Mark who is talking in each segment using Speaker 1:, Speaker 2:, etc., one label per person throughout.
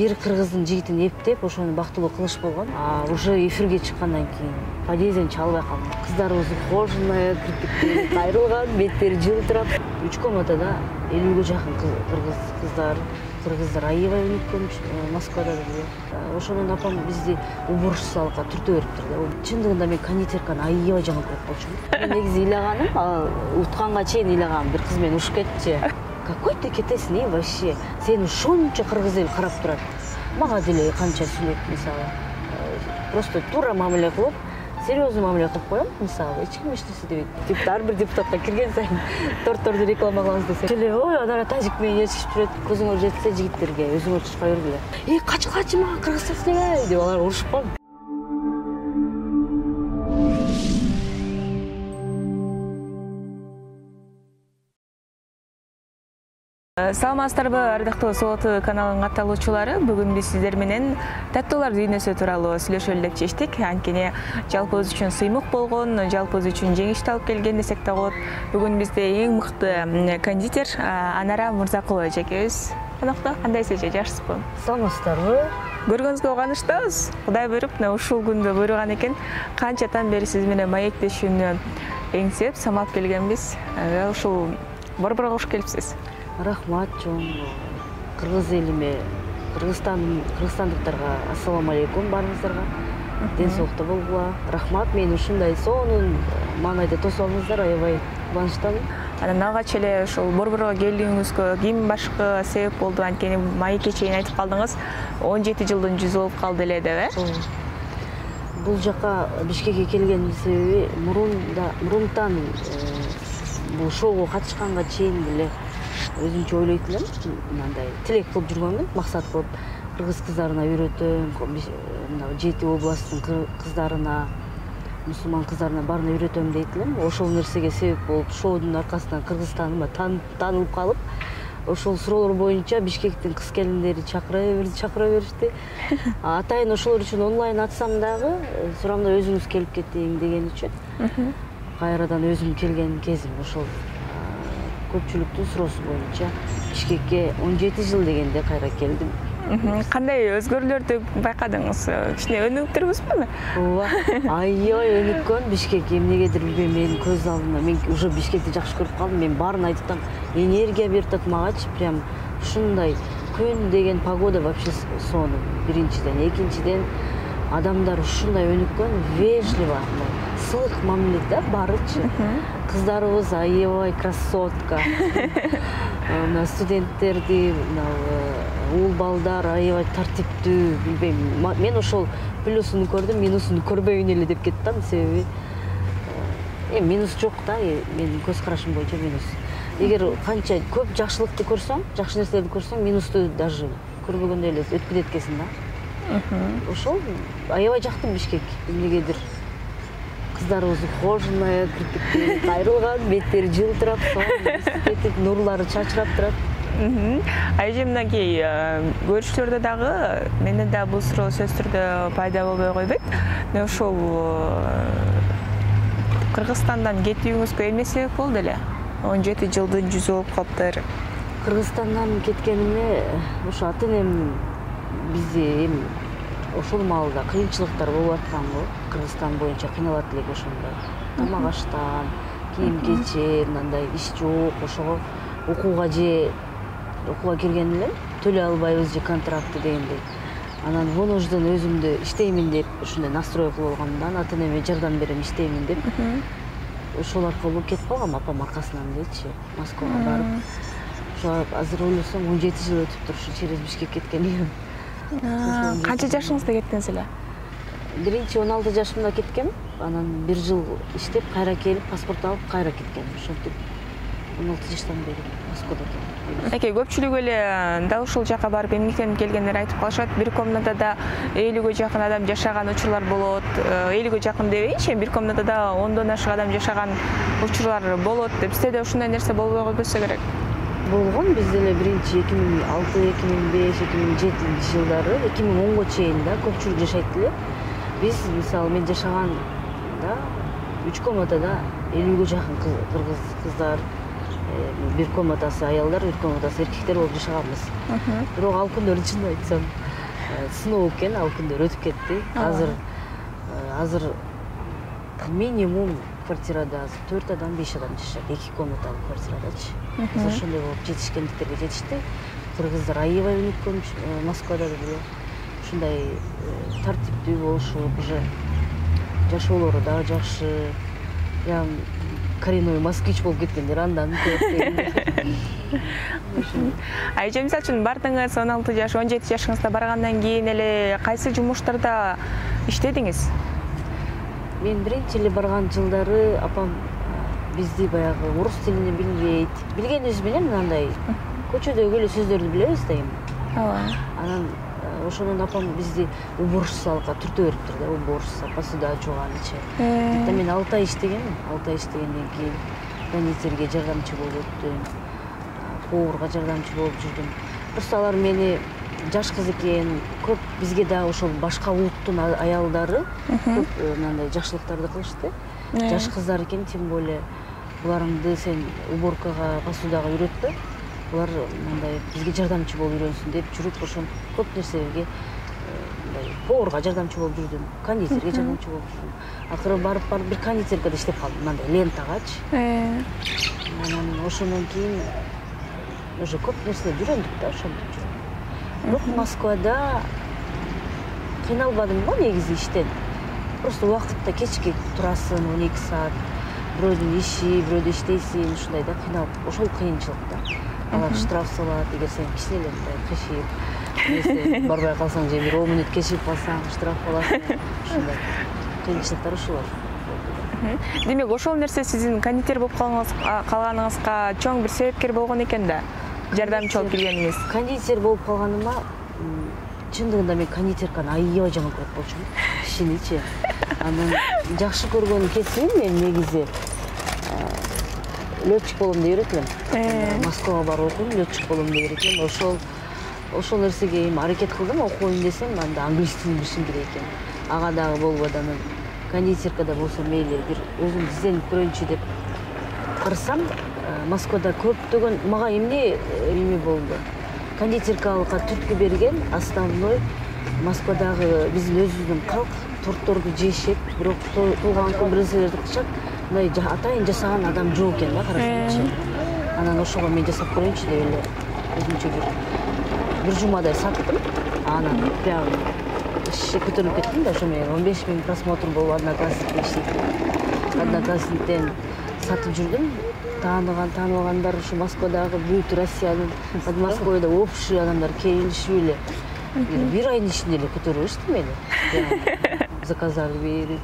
Speaker 1: бир кыргыздын жигитин эптеп ошону бактылуу кылыш болгон. Уже эфирге чыккандан кийин подъезден чалбай калдым. Кыздарыбыз ухоженная, кирпиктери кайрылган, беттери жылтырап. 3 комнатада 50ге жакын кыргыздар аябай өнүккөн Москвада деле. Ошонун апам бизди уборщицалыкка түртө бериптир да. Чындыгында мен кондитерканы аябай жаман көрүп калчумун. Мен негизи ыйлаганым, утканга чейин ыйлагам, бир кыз мени ушуп кетчи. Какой ты кетесиң вообще? Сени ушунча кыргыз эл карап турат. Мага деле канча сүйлөйт, мисалы. Просто тура мамиле кылып, серьезный мамиле кылып коем, мисалы. Эч ким эчтеси дебейт. Типа ар бир депутатка кирген сайын тортторду реклама кылабыз десе. Ой, анан тажик менен ээрчишип жүрөт. Көзүңөр жетсе жигиттерге, өзүңөр чыкпай бергиле. Качкачы мага кыргызча сүйлөбөй деп алар урушуп калды.
Speaker 2: Саламатсыздарбы, ардактуу Сот каналынын катталуучулары. Бүгүн биз сиздер менен таттуулар дүйнөсү тууралуу сүйлөшөлү деп чечтик. Анткени жалпыбыз үчүн сыймык болгон, жалпыбыз үчүн жеңишти алып келген десек да болот. Бүгүн бизде эң мыкты кондитер Анара Мырзакулова эжекебиз. Конокто кандайсыз эже, жакшысызбы?
Speaker 1: Саламатсыздарбы?
Speaker 2: Көргөнүзгө кубанычтабыз. Кудай буйруп, ушул күндө буйруган экен. Канчадан бери сиз менен маектешүүнү эңсеп, самалап келгенбиз. Ушул борборго кош келипсиз.
Speaker 1: Рахмат чоң. Кыргыз элиме, кыргызстандыктарга ассаламу алейкум баарыңыздарга. Ден соолукта болгула. Рахмат, мени ушундай сонун маанайда тосуп алдыңыздар, аябай кубанычтамын.
Speaker 2: Анан алгач эле ушул борборго келүүңүзгө ким башкы себеп болду? Анткени маекке чейин айтып калдыңыз, 17 жылдын жүзү болуп калды эле деп,
Speaker 1: Бул жака Бишкекке келгендин себеби мурунтан бул шоуго катышканга чейин деле өзүмчө ойлойт элем, мындай тилек кылып жүргөнмүн, максат кылып кыргыз кыздарына үйрөтөм, мына 7 областтын кыздарына, мусулман кыздарына баарына үйрөтөм дейт элем. Ошол нерсеге себеп болуп, шоудун аркасынан Кыргызстаныма таанылып калып, ошол суроолор боюнча Бишкектин кыз келиндери чакыра беришти. Атайын ошолор үчүн онлайн атсам дагы, сурамда өзүңүз келип кетиң деген үчүн кайрадан өзүм келген кезим ошол. Көпчүлүктүн суроосу боюнча Бишкекке 17 жыл дегенде кайра келдим.
Speaker 2: Кандай өзгөрүүлөрдү байкадыңыз? Кичине өнүктүрбүзбү?
Speaker 1: Ооба, аябай өнүккөн Бишкек. Эмнегедир билбейм, менин көз алдымда. Мен уже Бишкекти жакшы көрүп калдым. Мен баарын айтып атам, энергия берип атат магачы, прям ушундай күн деген погода вообще сонун. Биринчиден, экинчиден адамдар ушундай өнүккөн, вежливо, сылык мамиле да барычы. Кыздарыбыз аябай красотка. Мына студенттерди, уул балдар аябай тартиптүү, билбейм. Мен ошол плюсун көрдүм, минусун көрбөйүн эле деп кеттим, себеби минус жок да, менин көз карашым боюнча минус. Эгер канча көп жакшылыкты көрсөң, жакшы нерселерди көрсөң, минусту даже көрбөгөндөй эле өтүп кетет экенсиң да. Ошол аябай жактым Бишкек. Эмнегедир кыздарыбыз ухоженная, кирпиктери кайрылган, беттери жылтырап, кетип, нурлары чачырап турат.
Speaker 2: Эже мынакей көрүшүлөрдө дагы менен да бул суроо сөзсүз түрдө пайда болбой койбойт. Ошол Кыргызстандан кетүүңүзгө эмне себеп болду эле? 17 жылдын жүзү болуп калыптыр.
Speaker 1: Кыргызстандан кеткениме ошо ата-энем бизди ошол маалда кыйынчылыктар болуп атканго, Кыргызстан боюнча кыйналат элек ошондо. Тамак аштан, кийим-кечек, мындай иш жок, ошого окууга кирген элем, төлөй албайбыз же контрактты дегендей. Анан вынужден өзүмдү иштеймин деп ушундай настрой кылып алгандан, ата-энеме жардам берем, иштеймин деп. Ошол аркылуу кетип калгам апам аркасынан дечи, Москвага барып. Ошо азыр ойлосом 17 жыл өтүптүр ушу через Бишкек кеткеним.
Speaker 2: Канча жашыңызда кеттиңиз эле?
Speaker 1: Биринчи 16 жашымда кеткем, анан 1 жыл иштеп, кайра келип, паспорт алып, кайра кеткем. Ошентип 16 жаштан бери Москвада келдим.
Speaker 2: Эке, көпчүлүк эле да ушул жака барып эмгектенип келгендер айтып калышат. Бир комнатада 50ге жакын адам жашаган учурлар болот. 50ге жакын дебейинчи, бир комнатада 10дон ашык адам жашаган учурлар болот деп. Сизде да ушундай нерсе болбой койбосо керек.
Speaker 1: Болгон бизде эле биринчи 2006, 2005, 2007 жылдары, 2010го чейин да көпчүлүк жашайт эле. Биз мисалы мен жашаганда 3 комнатада 50ге жакын кыргыз кыздар, бир комнатасы аялдар, бир комнатасы эркектер болуп жашаганбыз. Бирок ал күндөрдү чынын айтсам сыноо экен, ал күндөр өтүп кетти. Азыр минимум квартирада 4 адам, 5 адам жашайт, 2 комнаталуу квартирадачы. Ошондой болуп жетишкендиктерге жетишти. Кыргыздар аябай өнүккөн Москвада да деле. Ушундай тартиптүү болушуп, уже жашоолору да жакшы. Прям коренной москвич болуп кеткендер андан көп.
Speaker 2: Эже мисалы үчүн бардыңыз 16 жаш, 17 жашыңызда баргандан кийин эле кайсы жумуштарда иштедиңиз?
Speaker 1: Мен биринчи эле барган жылдары апам бизди баягы орус тилин билбейт. Билгенибиз менен мындай көчөдөгү эле сөздөрдү билебиз да эми.
Speaker 2: Ооба.
Speaker 1: Анан ошондон апам бизди уборщицалыкка түртө бериптир да, уборщица, посуда жууганычы. Мен 6 ай иштегенмин. 6 ай иштегенден кийин кондитерге жардамчы болуп өттүм. Поварга жардамчы болуп жүрдүм. Просто алар мени жаш кыз экен, көп бизге да ошол башка улуттун аялдары көп мындай жакшылыктарды кылышты. Жаш кыздар экен, тем более буларыңды сен уборкага, посудага үйрөтпө. Булар мындай бизге жардамчы болуп үйрөнсүн деп жүрүп, ошон көп нерселерге мындай поварга жардамчы болуп жүрдүм, кондитерге жардамчы болуп жүрдүм. Акыры барып бир кондитеркада иштеп калдым, мындай лентагачы. Анан ошондон кийин уже көп нерселерди үйрөндүк да, ошентип жүрдүм. Бирок Москвада кыйналбадым го негизи иштен. Просто убакытта кечке турасың 12 саат, бирөөдүн иши, бирөөдө иштейсиң, ушундай да кыйналып, ошол кыйынчылык да. Алар штраф салат, эгер сен кичине эле мындай кешип, барбай калсаң же бир 10 мүнөт кешип калсаң штраф аласың. Ушундай кыйынчылыктар ушулар.
Speaker 2: Демек, ошол нерсе сиздин кондитер болуп калганыңызга чоң бир себепкер болгон экен да. Жардамчы болуп келгениңиз.
Speaker 1: Кондитер болуп калганыма чындыгында мен кондитерканы аябай жаман көрөт болчумун. Кишиничи. Анан жакшы көргөн кесибим мен негизи летчик болом деп элем. Москвага барып окудум, летчик болом деп элем. Ошол нерсеге эми аракет кылдым, окуйм десем, анда англис тилин билишим керек экен. Ага дагы болбоду. Анан кондитеркада болсо мейли бир өзүм изденип көрөйүнчү деп карасам, Москвада көптөгөн мага эме болду. Кондитеркалыкка түрткү берген основной Москвадагы биздин өзүбүздүн калк тортторду жешет, бирок толгон күн нерселерди кылышат. Мындай атайын жасаган адам жок экен да, карасаңчы. Анан ошого мен жасап көрөйүнчү деп эле өзүмчө бир жумадай саттым. Анан прям көтөрүлүп кеттим да, ошо менен 15 000 просмотр болуп Одноклассникте иштейт. Одноклассниктен сатып жүрдүм. Таанылгандар ушу Москвадагы бүт Россиянын, Москвада общий адамдар келишип эле бир айдын ичинде эле көтөрүп алышты мени. Заказдар берип.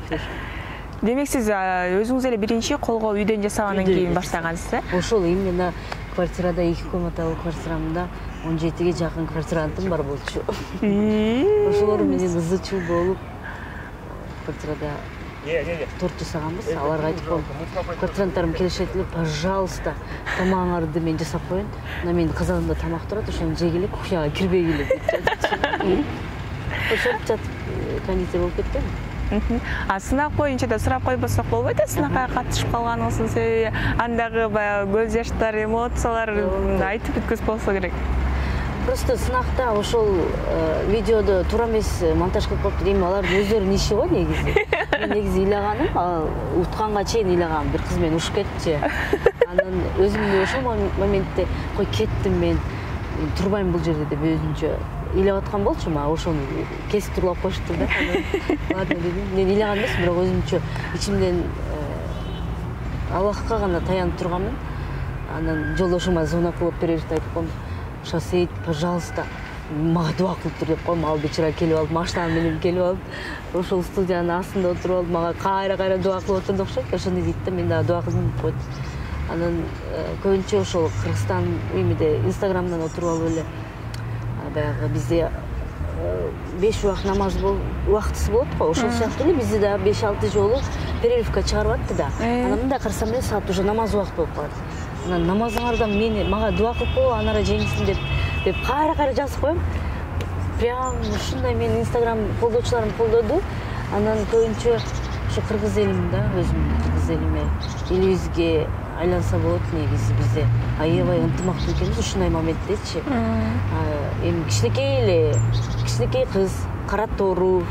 Speaker 2: Демек, сиз өзүңүз эле биринчи колго үйдөн жасагандан кийин баштагансыз, э?
Speaker 1: Ошол именно квартирада 2 комнаталуу квартирамда 17ге жакын квартирантым бар болчу. Ошолор менен ызы-чуу болуп квартирада торт жасаганбыз. Аларга айтып коем, квартиранттарым келишет эле, пожалуйста, тамагыңарды мен жасап коеюн. Мына менин казанымда тамак турат, ошону жегиле, кухняга кирбегиле деп жатып. Ошентип жатып кондитер болуп кеттим.
Speaker 2: Сынак боюнча да сурап койбосок болбойт э, сынакка катышып калганыңыздын себеби, андагы баягы көз жаштар, эмоциялар айтып бүткүз болсо керек.
Speaker 1: Просто сынакта ошол видеодо туура эмес монтаж кылып коюптур. Эми алардын өздөрүнүн иши го негизи. Мен негизи ыйлаганым, утканга чейин ыйлагам, бир кыз мени ушуп кетчи. Анан өзүмдү ошол моментте кой кеттим мен, турбайм бул жерде деп өзүмчө ыйлап аткан болчумун. Ошону кесип турлап коюшту да. Ладно дедим. Мен ыйлаган эмесмин, бирок өзүмчө ичимден Аллахка гана таянып турганмын. Анан жолдошума звонок кылып берип айтып коем, Шасейт, пожалуйста, мага дуа кылып тур деп коем. Ал бечара келип алып, машина менен келип алып, ошол студиянын астында отуруп алып, мага кайра дуа кылып отурду окшойт. Ошону дейт да, мен дагы дуа кылдым деп койт. Анан көбүнчө ошол Кыргызстан эмеде Инстаграмдан отуруп алып эле баягы бизде 5 убак намаз убактысы болот го. Ошол сыяктуу эле бизде да 5-6 жолу перерывка чыгарып атты да. Анан мындай карасам эле саат уже намаз убакыты болуп калат. Анан намазыңардан мага дуа кылып койгу, анара жеңсин деп кайра жазып коем. Прям ушундай менин Инстаграм колдоочуларым колдоду. Анан көбүнчө ушу кыргыз элим да, өзүмдүн кыргыз элиме, элибизге айланса болот негизи бизде. Аябай ынтымактуу экенбиз ушундай моментдечи. Эми кичинекей кыз, кара тоору,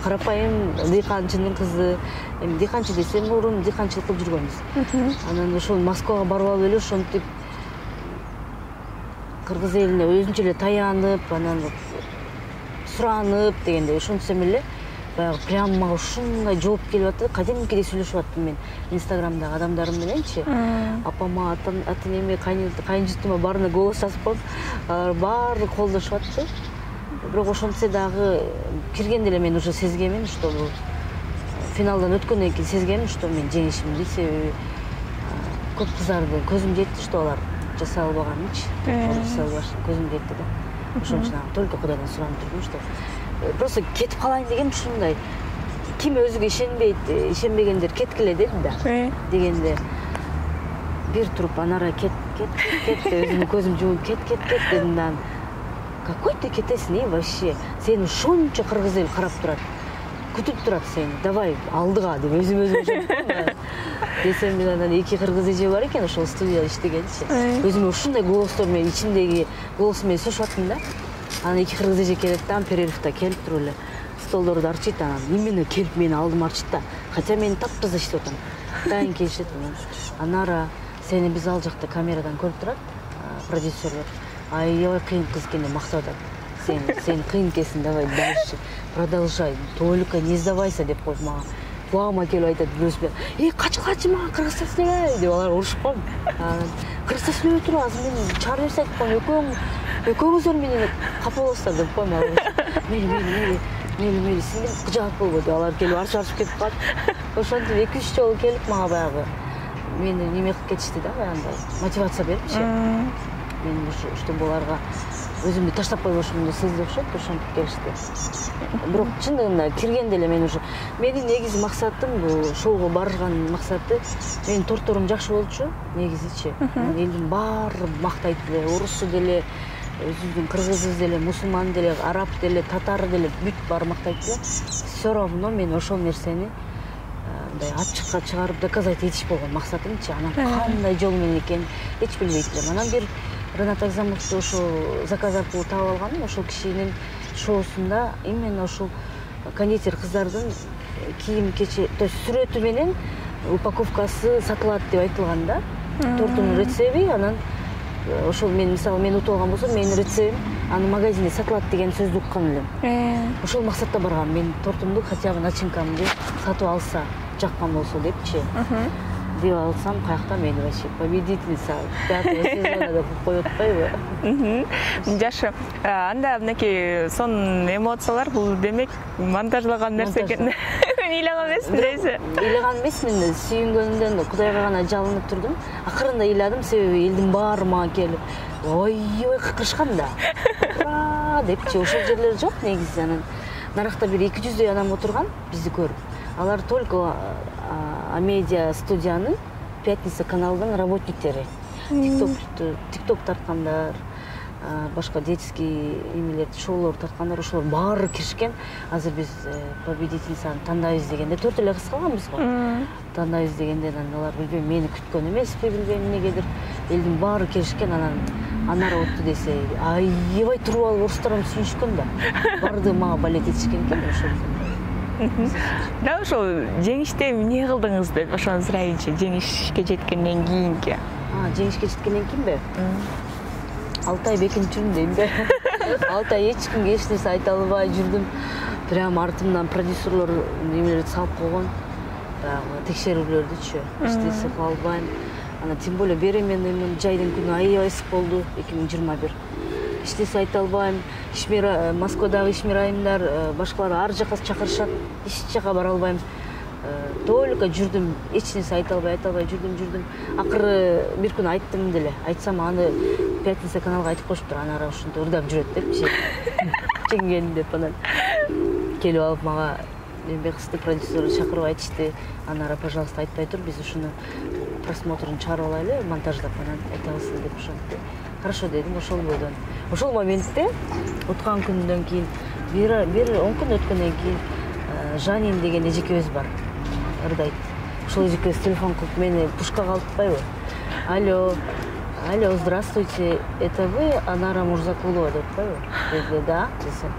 Speaker 1: карапайым дыйканчынын кызы. Эми дыйканчы десем, мурун дыйканчылык кылып жүргөнбүз. Анан ошол Москвага барып алып эле ошентип кыргыз элине өзүнчө эле таянып, анан суранып дегенде ошентсем эле баягы прям мага ушундай жооп келип атты. Кадимкидей сүйлөшүп аттым мен Инстаграмдагы адамдарым мененчи. Апама, ата-энеме, кайынжутума баарына голос жазып коюп, алар баары колдошуп атты. Бирок ошентсе дагы киргенде эле мен уже сезгемин, что бул финалдан өткөндөн кийин сезгемин, что мен жеңишимди. Себеби көп кыздарды көзүм жетти, что алар жасай албаганынчы. Көзүм жетти да. Ошон үчүн только Кудайдан суранып турдум, что просто кетип калайын дегем ушундай. Ким өзүгө ишенбейт, ишенбегендер кеткиле дедим да. Дегенде бир туруп анара кет өзүмдүн көзүм жумуп кет дедим да. Какой ты кетесиң вообще? Сени ушунча кыргыз эл карап турат. Күтүп турат сени. Давай алдыга деп өзүм десем, мен анан эки кыргыз эже бар экен, ошол студияда иштегенчи. Өзүмө ушундай голосдор менен ичимдеги голосум менен сүйлөшүп аттым да. Анан эки кыргыз эже келет да, перерывда келип туруп эле столдорду арчийт, анан именно келип мени алдыма арчийт да. Хотя мен таптаза иштеп атам. Дайын келишет. Анара сени биз ал жакта камерадан көрүп турат, продюсерлер. Аябай кыйын кыз экен деп мактап атат. Сен кыйын экенсиң, давай дальше, продолжай, только не сдавайся деп коюп мага. Кулагыма келип айтат бирөөсү. Качкылачы мага кыргызча сүйлөбөй деп алар урушуп коюп. Кыргызча сүйлөбөй туруп азыр мен чыгарып берсе айтып коем, экөөңүздөр менен капа болосуздар деп коем алар. Мейли сиңдир кыжаат болбо деп алар келип арчып кетип калат. Ошентип 2-3 жолу келип мага баягы мени неме кылып кетишти да, баягындай мотивация берипчи. Мен уште буларга өзүмдү таштап койбошумду сезди окшойт, ошентип келишти. Бирок чындыгында киргенде эле мен уже менин негизи максатым бул шоуго барган максаты менин торторум жакшы болчу негизичи. Элдин баары мактайт эле, орусу деле, өзүбүздүн кыргызыбыз деле, мусулман деле, араб деле, татар деле бүт баары мактайт эле. Все равно мен ошол нерсени мындай ачыкка чыгарып доказать этиш болгон максатымчы. Анан кандай жол менен экенин эч билбейт элем. Анан бир Ренат Агзамовду ошол заказ аркылуу таап алганым, ошол кишинин шоусунда именно ошол кондитер кыздардын кийим-кечи, то есть сүрөтү менен упаковкасы сатылат деп айтылган да. Тортунун рецеби, анан ошол мен мисалы мен утуп алган болсом, менин рецебим анын магазинде сатылат деген сөздү уккан элем. Ошол максатта баргам. Мен тортумду хотя бы начинкамды сатып алса, жаккан болсо депчи. Деп алсам, каякта мени вообще победительница 5-го сезона деп коюп атпайбы?
Speaker 2: Жакшы. Анда мынакей сон эмоциялар бул демек монтажлаган нерсе экен. Мен ыйлаган эмесмин дейсиз.
Speaker 1: Ыйлаган эмесмин, сүйүнгөнүмдөн Кудайга гана жалынып турдум. Акырында ыйладым, себеби элдин баары мага келип, ой кыркышкан да. Ура депчи, ошол жерлер жок негизи. Анан наракта бир 200дөй адам отурган бизди көрүп. Алар только Амедиа студиянын Пятница каналынын работниктери. Тикток тарткандар, башка детский эмелерди, шоулор тарткандар, ошолор баары киришкен. Азыр биз победительницаны тандайбыз дегенде 4 эле кыз калганбыз го. Тандайбыз дегенде алар билбейм мени күткөн эмеспи, билбейм эмнегедир. Элдин баары келишкен, анан Анара отту десе, аябай туруп алып орустарым сүйүнүшкөн да. Барды мага балет этишкен экен ошол.
Speaker 2: Да, ошол жеңиште эмне кылдыңыз деп ошону сурайынчы, жеңишке жеткенден кийинки.
Speaker 1: Жеңишке жеткенден кийинби? 6 ай бекинип жүрдүм дейм да. 6 ай эч кимге эч нерсе айта албай жүрдүм. Прям артымдан продюсерлор немелерди салып койгон. Баягы текшерүүлөрдүчү. Эч кыла албайм. Ана тем более беременныймын, жайдын күнү аябай ысык болду 2021. Эч нерсе айта албайм. Москвадагы ишмер айымдар, башкалар ар жака чакырышат. Эч жака бара албайм. Только жүрдүм, эч нерсе айта албай жүрдүм. Акыры бир күнү айттым деле. Айтсам аны Пятница каналга айтып коюшуптур, анара ушинтип ырдап жүрөт депчи. Жеңген деп анан келип алып мага эмне кызды продюсер чакырып айтышты. Анара, пожалуйста, айтпай тур, биз ушуну просмотрун чыгарып алайлы, монтаждап анан айтабыз деп ошентти. Хорошо дедим, ошол бойдон. Ошол моментте уткан күндөн кийин бир 10 күн өткөндөн кийин Жанин деген эжекебиз бар. Ырдайт. ошол эжеке телефон кылып мени пушкага алып атпайбы. Алло, здравствуйте, это вы Анара Мурзакулова деп атпайбы? Если да, десем,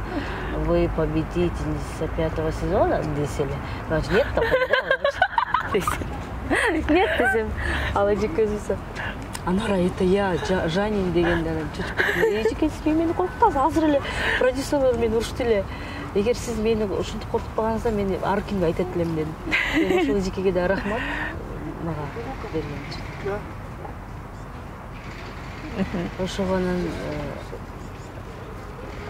Speaker 1: вы победительница 5-го сезона, десели. Значит, нет такого, да? Нет, десем. Ал эжеке өзү Анара, это я, Жанин дегенде анан чөчүп эжеке сиз мени коркутасыз, азыр эле продюсерлор мени урушты эле. Эгер сиз мени ушинтип коркутпагансыздар, мен ар кимге айтат элем дедим. Ошол эжекеге да рахмат мага берген үчүн. Ошого анан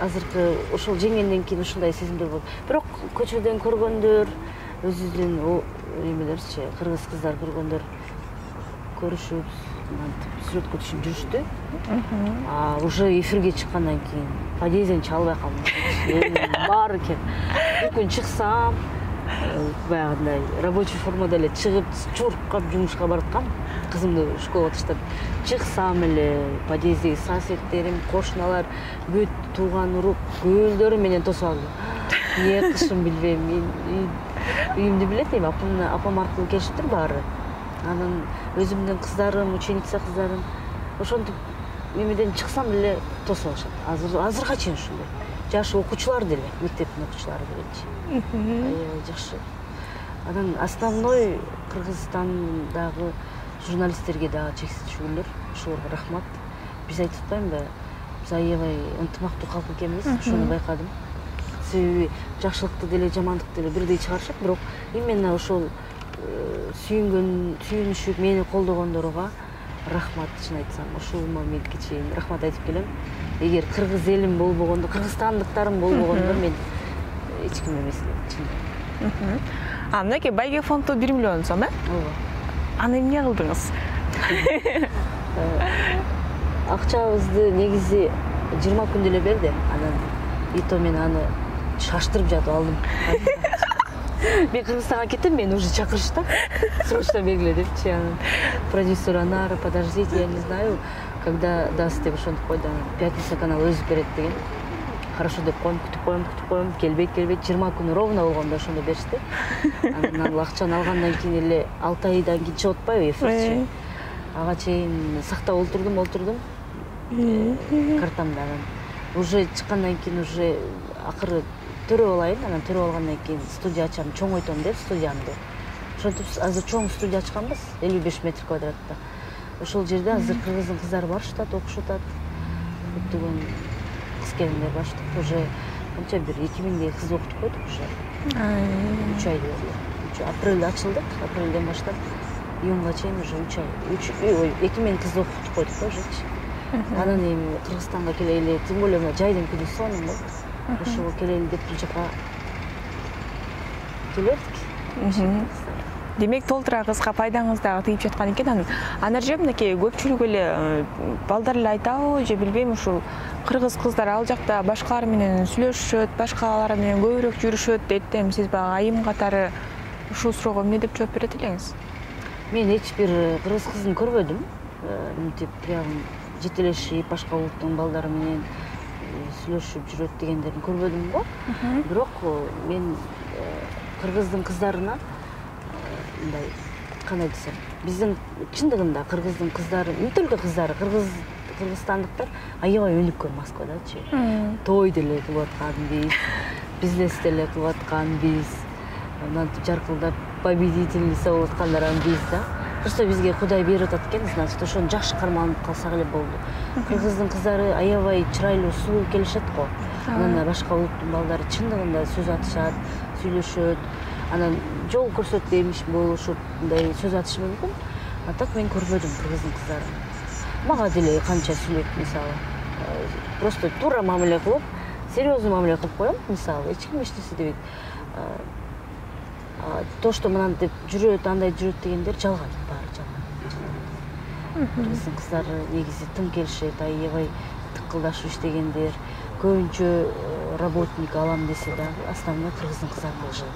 Speaker 1: азыркы ошол жеңгенден кийин ушундай сезимдер болот. Бирок көчөдөн көргөндөр, өзүбүздүн эмелерчи, кыргыз кыздар көргөндөр көрүшүп, сүрөткө түшүп жүрүштү. Уже эфирге чыккандан кийин подъезден чыга албай калдым. Баары экен. Бир күн чыксам, баягындай рабочий формада эле чыгып, чуркап жумушка бараткам. Кызымды школага таштап чыксам эле подъездеги соседтерим, кошуналар, бүт тууган урук көөлдөрү менен тосуп алды. Эмне кылышымды билбейм. Үйүмдү билет эми, апам аркылуу келишиптир баары. Анан өзүмдүн кыздарым, ученица кыздарым ошентип эмеден чыксам эле тосуп алышат. Азырга чейин ушундай. Жаш окуучулар деле, мектептин окуучулары делечи. Жакшы. Анан основной Кыргызстандагы журналисттерге дагы чексиз шүгүрлөр. Ошолорго рахмат. Биз айтып атпаймынбы? Биз аябай ынтымактуу калк экенбиз, ошону байкадым. Себеби жакшылыкты деле, жамандыкты деле бирдей чыгарышат, бирок именно ошол сүйүнүшүп, мени колдогондорго рахмат, чын айтсам. Ушума меники чейин рахмат айтып келем. Эгер кыргыз элим болбогондо, кыргызстандыктарым болбогондо мен эч ким эмес элем.
Speaker 2: Мынакей байге фонду 1 миллион сом,
Speaker 1: Ооба.
Speaker 2: Аны эмне кылдыңыз?
Speaker 1: Акчабызды негизи 20 күндө эле берди. Анан ито мен аны шаштырып жатып алдым. Мен Кыргызстанга кеттим, мени уже чакырышты. Срочно бергиле депчи. Анан продюсер Анара, подождите, я не знаю, когда даст деп ошентип койду. Пятница каналы өзү берет деген. Хорошо деп коем, күтүп коем, келбейт. 20 күн ровно болгондо ошондо беришти. Анан ал акчаны алгандан кийин эле 6 айдан кийин чыгып атпайбы эфирчи. Ага чейин сактап олтурдум. Картамда анан уже чыккандан кийин уже акыры төрөп алайын, анан төрөп алгандан кийин студия ачам, чоңойтом деп студиямды. Ошентип азыр чоң студия ачканбыз, 55 метр квадратта. Ошол жерде азыр кыргыздын кыздары барышат, окушуп атат. Көптөгөн кыз келиндер барышат. Уже канча бир 2000дей кыз окутуп койдук уже. 3 ай болду. Апрелде ачылдык, апрелден баштап июнга чейин уже 3 ай. 2000 кыз окутуп койдук ожечи. Анан эми Кыргызстанга келели, тем более мына жайдын күнү сонун болду. Ошого келели деп бул жака келердик.
Speaker 2: Демек толтура кызга пайдаңыз дагы тийип жаткан экен. Анан Анар же мынакей көпчүлүк эле балдар эле айтабы, же билбейм, ушул кыргыз кыздар ал жакта башкалар менен сүйлөшүшөт, башкалар менен көбүрөөк жүрүшөт дейт. Сиз баягы айым катары ушул суроого эмне деп жооп берет элеңиз?
Speaker 1: Мен эч бир кыргыз кызын көрбөдүм. Мынтип прям жетелешип, башка улуттун балдары менен сүйлөшүп жүрөт дегендерин көрбөдүм го. Бирок мен кыргыздын кыздарына мындай кандай десем, биздин чындыгында кыргыздын кыздары, не только кыздары, кыргызстандыктар аябай өнүккөн Москвадачы. Той деле кылып аткан биз, бизнес деле кылып аткан биз, мынтип жаркылдап победительница болуп аткандар биз да. Просто бизге Кудай берип атат экен, значит, ошону жакшы карманып калсак эле болду. Кыргыздын кыздары аябай чырайлуу, сулуу келишет го. Анан башка улуттун балдары чындыгында сөз атышат, сүйлөшөт. Анан жол көрсөтпеймиш болушуп, мындай сөз атышы мүмкүн. А так мен көрбөдүм кыргыздын кыздарын. Мага деле канча сүйлөйт, мисалы. Просто туура мамиле кылып, серьезный мамиле кылып коем, мисалы, эч ким эч нерсе дебейт. То, что мынантип жүрөт, андай жүрөт дегендер жалган, баары жалган. Кыргыздын кыздары негизи тым келишет, аябай тыкылдашып иштегендер, көбүнчө работник алам десе да, основной кыргыздын кыздары болушат.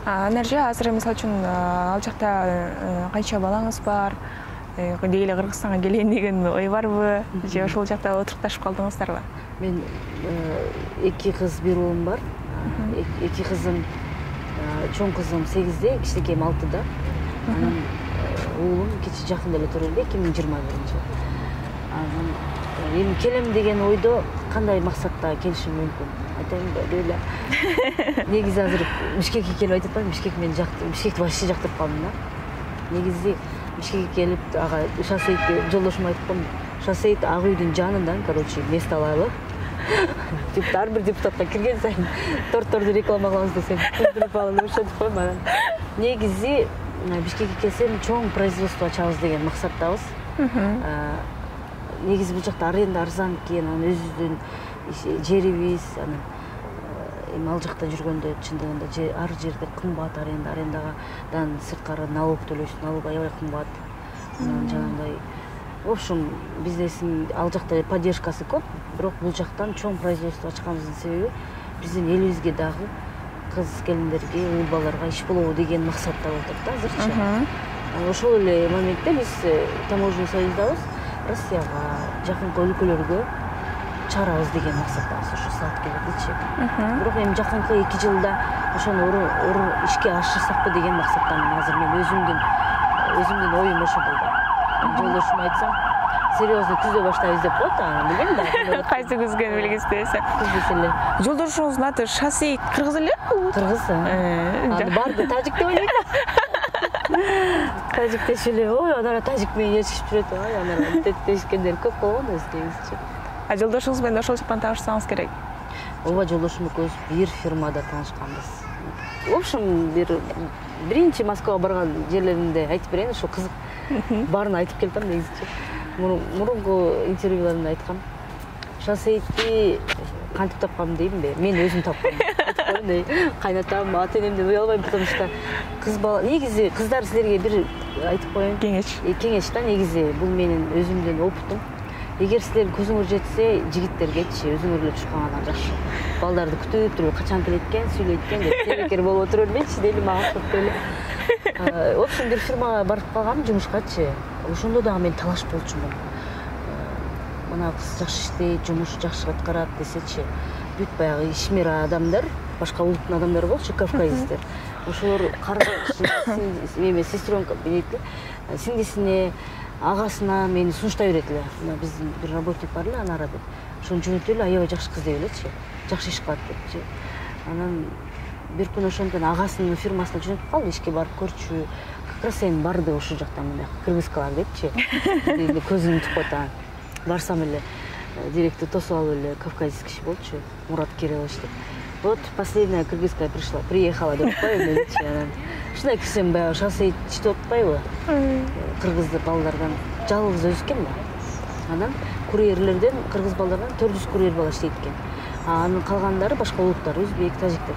Speaker 2: Анар же азыр мисалы үчүн ал жакта канча балаңыз бар? Деги эле Кыргызстанга келейин деген ой барбы? Же ошол жакта отурукташып калдыңыздарбы?
Speaker 1: Мен 2 кыз, 1 уулум бар. 2 кызым чоң кызым 8-де, кичинекейим 6-да. Анан уулум кечи жакында эле туруп эле 2021-жылы. Анан эми келем деген ойдо кандай максатта келишим мүмкүн? Айтайын эле. Негизи азыр Бишкекке келип айтып атпаймынбы, Бишкек мени жактырып, Бишкекти вообще жактырып калдым да. Негизи Бишкекке келип, ага шоссейди жолдошума айтып коем, шоссейд ак үйдүн жанынан, короче, место алалы. Ар бир депутатка кирген сайын тортторду реклама кылабыз десем, кирдирип алып ошентип коем. Анан негизи Бишкекке келсем чоң производство ачабыз деген максаттабыз. Негизи бул жакта аренда арзан экен, анан өзүбүздүн жерибиз, анан эми ал жакта жүргөндө чындыгында ар жерде кымбат арендадан сырткары налог төлөйсүң, налог аябай кымбат. Анан жанагындай в общем, бизнестин ал жакта поддержкасы көп, бирок бул жактан чоң производство ачканыбыздын себеби биздин элибизге дагы кыз келиндерге, уул балдарга иш болобу деген максатта отуруп да азырчы. Ошол эле моментте биз таможенный союздабыз, Россияга, жакынкы өлкөлөргө чыгарабыз деген максаттабыз, ошо саат келдичи. Бирок эми жакынкы 2 жылда ошону ишке ашырсакпы деген максаттамын. Азыр мен өзүмдүн оюм ошондой да. Жолдошума айтсам, серьезно күздө баштайбыз деп коет, анан билбейм да.
Speaker 2: Кайсы күзгөн белгисиз десе.
Speaker 1: Күз эле.
Speaker 2: Жолдошуңуздун аты Шосейт, кыргыз эле?
Speaker 1: Кыргыз. Аны барды тажик деп ойлойт. Тажик дешип эле, ой, анара тажик менен ээрчишип жүрөт, ай, анара дешкендер көп болгон өзүнчө.
Speaker 2: Жолдошуңуз менен ошол жактан таанышсаңыз керек.
Speaker 1: Ооба, жолдошум экөөбүз бир фирмада таанышканбыз. В общем, биринчи Москвага барган жерлеримде айтып берейин, ошо кызык. Баарын айтып келдим негизичи. Мурунку интервьюларымда айткам. Шоссейти кантип тапкам деймби? Мен өзүм тапкам. Айтып коеюн, кайнатам, ата энемден уялбайм, потому что кыз бала, негизи кыздар силерге бир айтып коеюн. Кеңеш да, негизи бул менин өзүмдүн опытым. Эгер силер көзүңөр жетсе, жигиттергечи өзүңөр эле чуркагандан жакшы. Балдарды күтүп туруп, качан келет экен, сүйлөйт экен деп себекер болуп отура бермечи дейли, мага окшоп эле. В общем, бир фирмага барып калгам жумушкачы. Ошондо дагы мен талаш болчумун. Мына кыз жакшы иштейт, жумуш жакшы аткарат десечи, бүт баягы ишмер адамдар, башка улуттун адамдары болчу, кавказецтер. Ошолор эме сестренка сиңдисине, агасына мени сунуштай берет эле. Мына биздин бир работник бар эле, Анара деп. Ошону жөнөтүп эле, аябай жакшы кыз деп элечи, жакшы иш кылат депчи. Анан бир күн ошондон агасынын фирмасына жөнөтүп калды, ишке барып көрчү. Как раз эми барды ошол жактан мындай кыргызкалар депчи. Көзүм утуп коет. Барсам эле директор тосуп алып эле кавказец киши болчу, Мурат Кириллович деп. Вот последняя кыргызская приехала деп коем менчи. Анан ушундай кирсем баягы шоссейт иштеп атпайбы? Кыргыз балдардан жалгыз өзү экен да. Анан курьерлерден кыргыз балдардан 400 курьер бала иштейт экен. Анын калгандары башка улуттар, өзбек, тажиктер.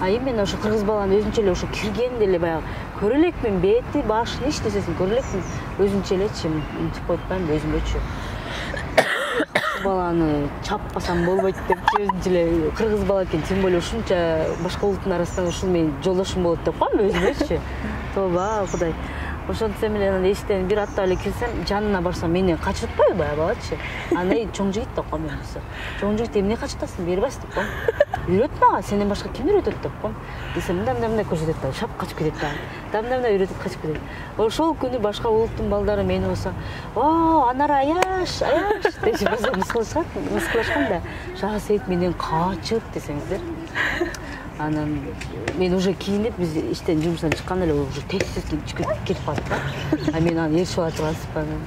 Speaker 1: Именно ошо кыргыз баланы өзүнчө эле ошо киргенде эле баягы көрө элекмин, бети, башын иш десесин көрө элекмин, өзүнчө элечи мынтип коюп атпаймынбы өзүмөчү. Баланы чаппасам болбойт депчи өзүнчө эле кыргыз бала экен, тем более ушунча башка улуттун арасынан ушул менин жолдошум болот деп коемби өзүмөчү. Тоба, Кудай. Ошентсем эле анан эшиктен бир аттап эле кирсем, жанына барсам мени качып атпайбы баягы балачы. Андай чоң жигит деп коем мен болсо. Чоң жигит эмне качып атасың, бербайсың деп коем. Үйрөт мага, сенден башка ким үйрөтөт деп коем. Десем, мындай көрсөтөт да, шап качып кетет да. Мындай үйрөтүп качып кетет. Ошол күнү башка улуттун балдары мени болсо, "О, Анара аяш, аяш" дешип мыскылашкан да. Шоссейт менен качып десеңиздер. Анан мен уже кийинип, биз иштен жумуштан чыкканда эле уже тез кетип калдык да. Мен аны ээрчип ала тургансызбы анан.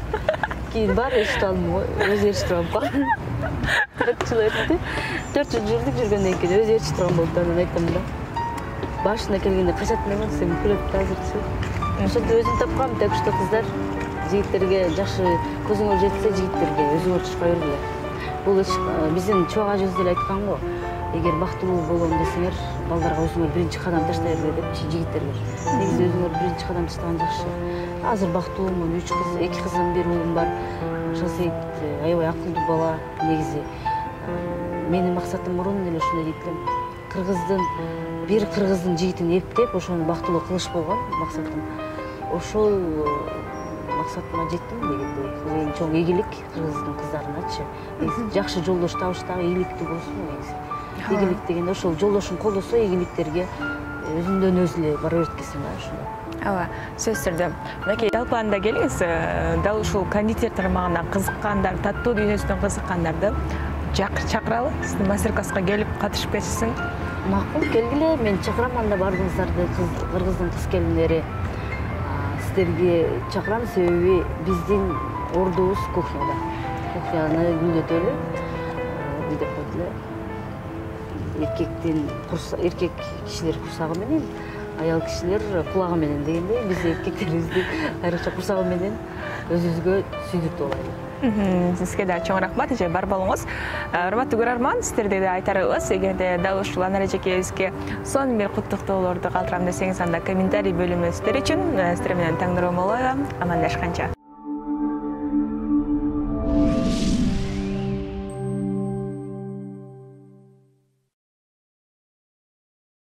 Speaker 1: Кийин баары ээрчитип алдым го, өзү ээрчитип алып калдым. 4 жыл өттү. 4 жыл жүргөндөн кийин өзү ээрчитип турган болду. Анан айттым да. Башына келгенде качатын эмес, сен күлөт да азырчы. Ошентип өзүм тапкам, так что кыздар, жигиттерге жакшы көзүңөр жетсе, жигиттерге өзүңөр чыкпа бергиле. Бул биздин чоң ажыбыз деле айткан го. Эгер бактылуу болом десеңер, балдарга өзүңөр биринчи кадам таштай бергиле депчи жигиттерге. Негизи өзүңөр биринчи кадам таштаган жакшы. Азыр бактылуумун, 3 кыз, 2 кызым, 1 уулум бар. Шоссейт аябай акылдуу бала. Негизи менин максатым мурун эле ушундай дейт элем. Бир кыргыздын жигитин эптеп, ошону бактылуу кылыш болгон максатым. Ошол максатыма жеттим дегендей. Эң чоң ийгилик кыргыздын кыздарыначы. Жакшы жолдош табыш дагы ийгиликтүү болсун негизи. Ийгилик дегенде ошол жолдошуң колдосо ийгиликтерге өзүнөн өзү эле бара берет экенсиң да ошондой.
Speaker 2: Ооба, сөзсүз түрдө. Мынакей талкууланда келиңиз, дал ушул кондитер тармагына кызыккандар, таттуу дүйнөсүнө кызыккандарды чакыралы, сиздин мастер-класска келип катышып кетишсин.
Speaker 1: Макул, келгиле, мен чакырам анда баарыңыздарды, кыргыздын кыз келиндери. Сиздерге чакырам, себеби биздин ордубуз кухняда. Кухняны гүлдөтөлү. Деп коет эле. Эркек кишилер курсагы менен, аял кишилер кулагы менен дегендей, биз эркектерибизди айрыкча курсагы менен өзүбүзгө сүйдүктүү болайлы.
Speaker 2: Сизге да чоң рахмат, эже бар болуңуз. Урматтуу көрөрман, сиздерде да айтарыбыз, эгерде дал ушул Анар эжекебизге сонун бир куттуктоолорду калтырам десеңиз, анда комментарий бөлүмү сиздер үчүн. Сиздер менен Таңнур Омолоева, амандашканча.